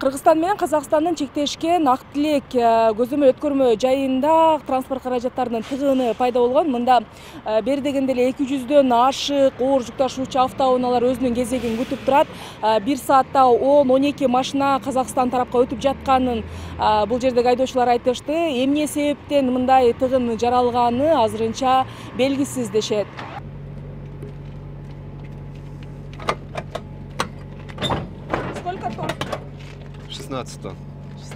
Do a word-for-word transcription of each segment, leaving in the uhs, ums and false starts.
Кыргызстан менен Казакстандын чектешкен Ак Тилек көзөмөл өткөрмө жайында транспорт каражаттарынын тыгыны пайда болгон. Мында бери дегенде эле эки жүздөн ашык оор жүк ташуучу автоунаалар өзүнүн кезегин күтүп турат. Бир саатта он он эки машина Казакстан тарапка өтүп жатканын бул жердеги айдоочулар айтышты. Эмне себептен мындай тыгын жаралганы азырынча белгисиз дешет. Сколько тонн? шестнадцать тонн.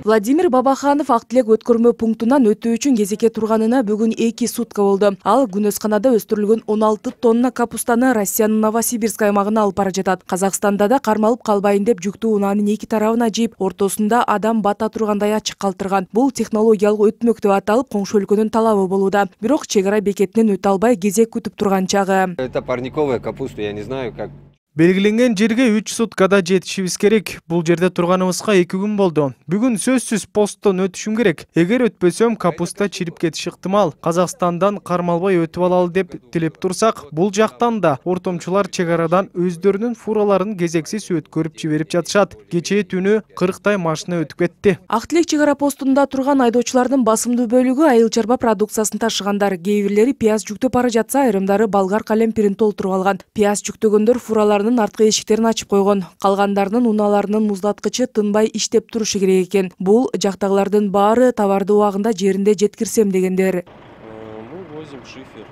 Владимир Бабаханов Ак Тилек өткөрмө пунктунан өтүү үчүн кезекке турганына бүгүн эки сутка болду. Ал күнөсканада өстүрүлгөн он алты тонна капустаны Россиянын Новосибирск аймагына алып бара жатат. Казакстанда да кармалып калбайын деп жүктүү унаанын эки тарабына жийип, ортосунда адам бата тургандай ачык калтырган. Бул технологиялык өтмөк деп аталып, коңшу өлкөнүн талабы болууда. Бирок чек ара бекетинен өтө албай кезек күтүп турган чагы. Это парниковая капуста, я не знаю как. Белгиленген жерге үч суткада жетишибиз керек. Бул жерде турганыбызга эки күн болду. Бүгүн сөзсүз посттон өтүшүм керек. Эгер өтпөсөм, капуста чирип кетиши ыктымал. Казакстандан кармалбай өтүп алалы деп тилеп турсак, бул жактан да ортомчулар чек арадан өздөрүнүн фураларын кезексиз өткөрүп жиберип жатышат. Кечээ түнү кырктай машина өтүп кетти. Ак Тилек чек ара постунда турган айдоочулардын басымдуу бөлүгү айыл чарба продукциясын ташыгандар. Кээ бирлери пияз жүктөп бара жатса, айрымдары болгар калемпирин толтуруп алган. Пияз жүктөгөндөр фуралар арткы эшиктерин ачып койгон. Калгандарынын унааларынын муздаткычы тынбай иштеп турушу керек экен. Бул жактагылардын баары товарды убагында жеринде жеткирсем дегендер. Мы возим шифер.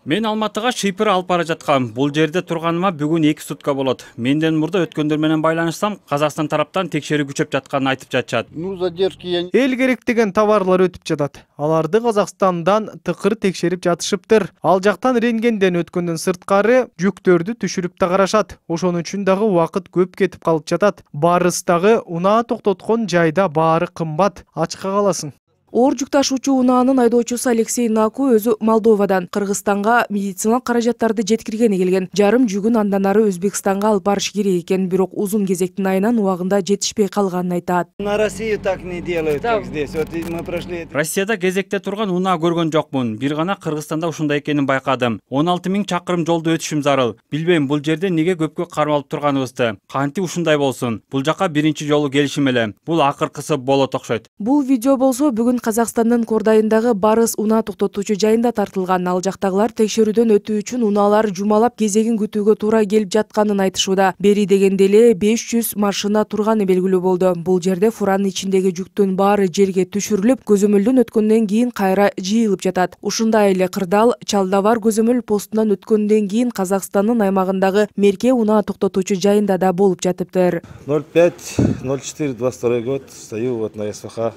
Мен Алматыга шипер алып бара жаткам. Бул жерде турганыма бүгүн эки сутка болот. Менден мурда өткөндөр менен байланышсам, Казакстан тараптан текшерүү күчөп жатканын айтып жатышат. Ну, задержки я... Эл керек деген товарлар өтүп жатат. Аларды Казакстандан тыкыр текшерип жатышыптыр. Ал жактан рентгенден өткөндөн сырткары жүктөрдү түшүрүп да карашат. Ошон үчүн дагы убакыт көп кетип калып жатат. Барыстагы унаа токтоткон жайда баары кымбат. Ачка каласың. Оор жүк ташуучу унаанын айдоочусу Алексей Наку өзү Молдовадан Кыргызстанга медициналык каражаттарды жеткиргени келген. Жарым жүгүн андан ары Өзбекстанга алып барыш керек экен, бирок узун кезектин айынан убагында жетишпей калганын айтат. На Россию так не делают, как здесь. Вот мы прошли. Россияда кезекте турган унаа көргөн жокмун. Бир гана Кыргызстанда ушундай экенин байкадым. он алты миң чакырым жолду өтүшүм зарыл. Билбейм, бул жерде неге көпкө кармалып турганыбызды. Кантип ушундай болсун. Бул жака биринчи жолу келишим эле. Бул акыркысы болот окшойт. Бул видео болсо бүгүн Казакстандын Кордайындагы Барыс унаа токтотуучу жайында тартылган. Ал жактагылар текшерүүдөн өтүү үчүн унаалар жумалап кезегин күтүүгө туура келип жатканын айтышууда. Бери дегенде эле беш жүз машина турганы белгилүү болду. Бул жерде фуранын ичиндеги жүктүн баары жерге түшүрүлүп, көзөмөлдөн өткөндөн кийин кайра жыйылып жатат. Ушундай эле кырдаал Чалдавар көзөмөл постунан өткөндөн кийин Казакстандын аймагындагы Мерке унаа токтотуучу жайында да болуп жатыптыр. ноль пять ноль четыре двадцать второй год. Стою вот на СВХ.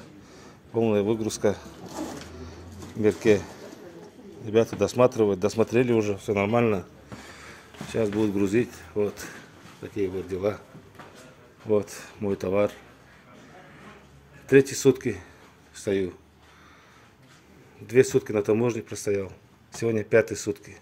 Полная выгрузка. Мерке. Ребята досматривают, досмотрели уже, все нормально. Сейчас будут грузить. Вот такие вот дела. Вот мой товар. Третьи сутки стою. Две сутки на таможне простоял. Сегодня пятые сутки.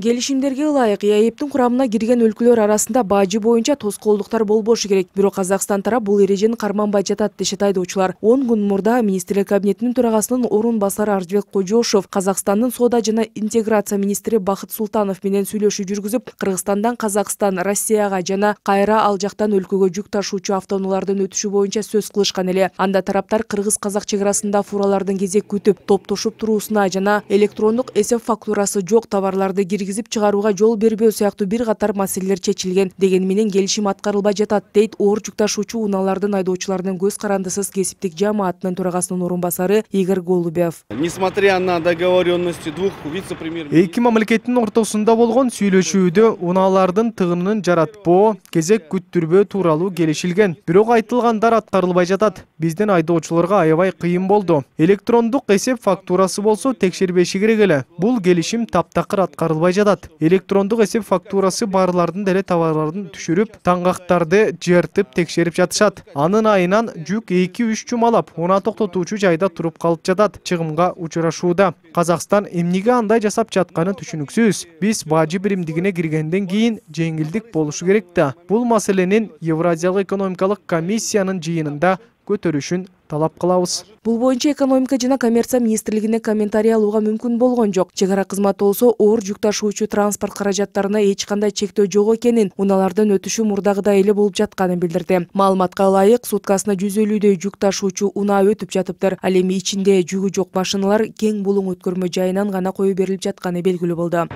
Келишимдерге ылайык ЕАЭБтин курамына кирген өлкөлөр арасында бажы боюнча тоскоолдуктар болбошу керек. Бирок Казакстан тарап бул эрежени карманбай жатат дешет айдоочулар. он күн мурда Министрлер кабинетинин төрагасынын орун басары Аржыбек Кожошов Казакстандын соода жана интеграция министри Бакыт Султанов менен сүйлөшүү жүргүзүп, Кыргызстандан Казакстан, Россияга жана кайра ал жактан өлкөгө жүк ташуучу автоунаалардын өтүшү боюнча сөз кылышкан эле. Анда тараптар кыргыз-казак чек арасында фуралардын кезек күтүп, топтошуп туруусуна жана электрондук эсеп фактурасы жок товарларды киргизип чыгарууга жол бербөө сыяктуу бир катар маселелер чечилген. Деген менен келишим аткарылбай жатат, дейт оор жүк ташуучу унаалардын айдоочуларынын көз карандысыз кесиптик жамаатынын төрагасынын орун басары Игорь Голубев. Несмотря на договоренности двух вице-премьер... Эки мамлекеттин ортосунда болгон сүйлөшүүдө унаалардын тыгынын жаратпоо, кезек күттүрбөө тууралуу келишилген. Бирок айтылгандар аткарылбай жатат. Биздин айдоочуларга аябай кыйын болду. Электрондук эсеп фактурасы болсо текшербеши керек эле. Бул келишим таптакыр аткарылбай жатат. Электрондук эсеп фактурасы барлардын деле товарларын түшүрүп, таңгактарды жертип текшерип жатышат. Анын айынан жүк эки үч жумалап унаа токтотуучу жайда туруп калып жатат, чыгымга учурашууда. Казакстан эмнеге андай жасап жатканы түшүнүксүз. Биз бажы биримдигине киргенден кийин жеңилдик болушу керек да. Бул маселенин Евразиялык экономикалык комиссиянын жыйынында көтөрүшүн талап кылабыз. Бул боюнча экономика жана коммерция министрлигине комментарий алууга мүмкүн болгон жок. Чек ара кызматы болсо оор жүк ташуучу транспорт каражаттарына эч кандай чектөө жок экенин, унаалардын өтүшү мурдагыдай эле болуп жатканын билдирди. Маалыматка ылайык, суткасына жүз элүүдөй жүк ташуучу унаа өтүп жатыптыр. Ал эми ичинде жүгү жок машиналар кең булуң өткөрмө жайынан гана кое берилип жатканы белгилүү болду.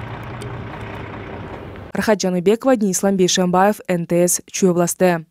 Рахат Жаныбекова, Денис Ламбешенбаев, эн тэ эс, Чүй областы.